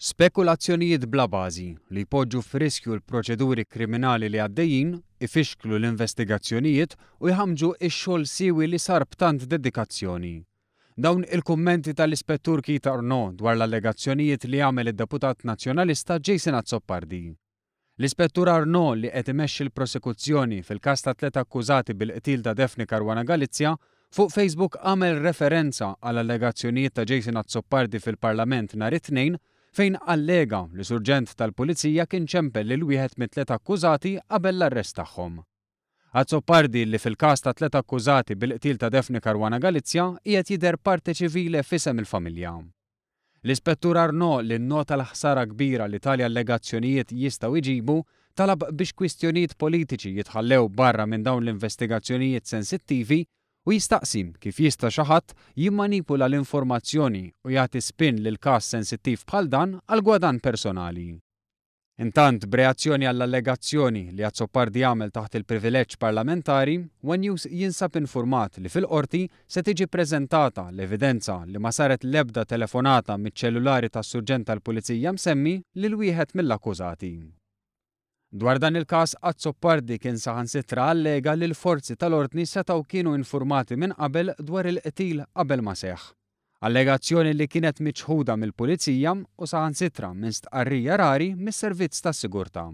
Spekulazzjonijiet bla bażi, li jpoġġu f'riskju l-proċeduri kriminali li għaddejjin, ifixklu l-investigazzjonijiet u jħammġu x-xogħol siewi li sar b'tant dedikazzjoni. Dawn il-kummenti tal-Ispettur Keith Arnaud dwar l-allegazzjonijiet li għamel id-Deputat Nazzjonalista Jason Azzopardi. L-Ispettur Arnaud li qed imexxi l-prosekuzzjoni fil-każ tat-tlett akkużati bil-qtil ta' Daphne Caruana Galizia, fuq Facebook għamel referenza għal allegazzjonijiet ta' Jason Azzopardi fil-Parlament nhar it-Tnejn fejn allega li surġent tal-Pulizija kien ċempel lil wieħed mit-tliet akkużati qabel l-arrest tagħhom. Azzopardi li fil-każ tat-tliet akkużati bil-qtil ta' Daphne Caruana Galizia qiegħed jidher parte civile f'isem il-familja. L-Ispettur Arnaud, li nnota l-ħsara kbira li tali allegazzjonijiet jistgħu jġibu, talab biex kwistjonijiet politiċi jitħallew barra minn dawn l-investigazzjonijiet sensittivi u jistaqsi kif jista' xi ħadd jimmanipula l-informazzjoni u jagħti spin lil każ sensittiv bħal dan għal gwadann personali. Intant, b'reazzjoni għall-allegazzjoni li Azzopardi għamel taħt il-privileġġ parlamentari, one News jinsab infurmat li fil-Qorti se tiġi ppreżentata l-evidenza li ma saret l-ebda telefonata miċ-ċellulari tas-Surġent tal-Pulizija msemmi lil wieħed mill-akkużati. Dwar dan il-każ, Azzopardi kien saħansitra allega li l-forzi tal-ordni setgħu kienu infurmati minn qabel dwar il-qtil qabel ma seħħ. Allegazzjoni li kienet miċħuda mill-Pulizija u saħansitra minn stqarrija rari mis-Servizz tas-Sigurtà.